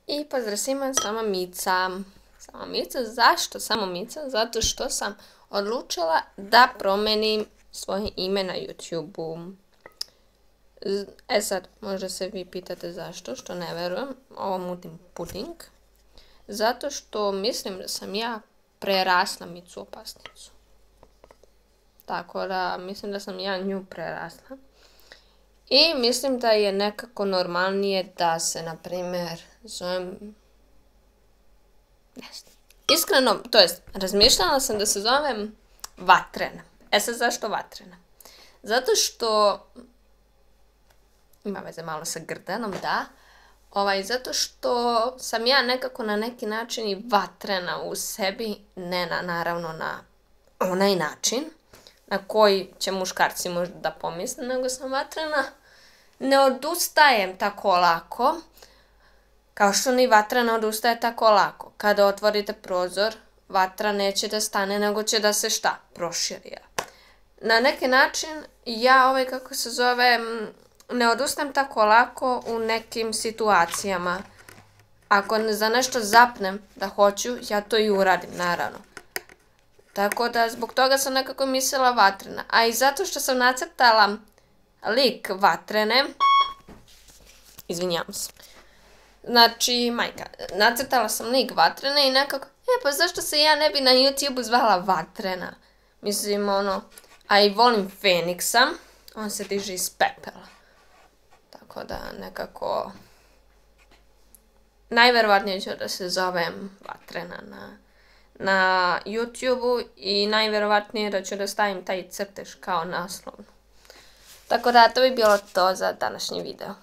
I pozdrav svima, sama Mica. Sama Mica, zašto samo Mica? Zato što sam odlučila da promenim svoje ime na YouTube-u. Sad, možda se vi pitate zašto, što ne verujem, ovo mutim puding. Zato što mislim da sam ja prerasla Micu Opasnicu. Tako da, mislim da sam ja nju prerasla. I mislim da je nekako normalnije da se, na primjer, zovem... Iskreno, to jest, razmišljala sam da se zovem Vatrena. Sad zašto Vatrena? Zato što... Ima veze malo sa grdanom, da. Zato što sam ja nekako na neki način i vatrena u sebi, ne naravno na onaj način na koji će muškarci možda da pomisle, nego sam vatrena. Ne odustajem tako lako, kao što ni vatra ne odustaje tako lako. Kada otvorite prozor, vatra neće da stane, nego će da se šta? Proširi. Na neki način ja ne odustajem tako lako u nekim situacijama. Ako za nešto zapnem da hoću, ja to i uradim, naravno. Tako da zbog toga sam nekako mislila Vatrena. A i zato što sam nacrtala lik Vatrene, izvinjavam se. Znači, nacrtala sam lik Vatrene i nekako, pa zašto se ja ne bi na YouTube zvala Vatrena? Mislim, a i volim Feniksa, on se diže iz pepela. Tako da, nekako, najverovatnije ću da se zovem Vatrena na YouTube-u i najverovatnije da ću da stavim taj crtež kao naslovnu. Tako da, to bi bilo to za današnji video.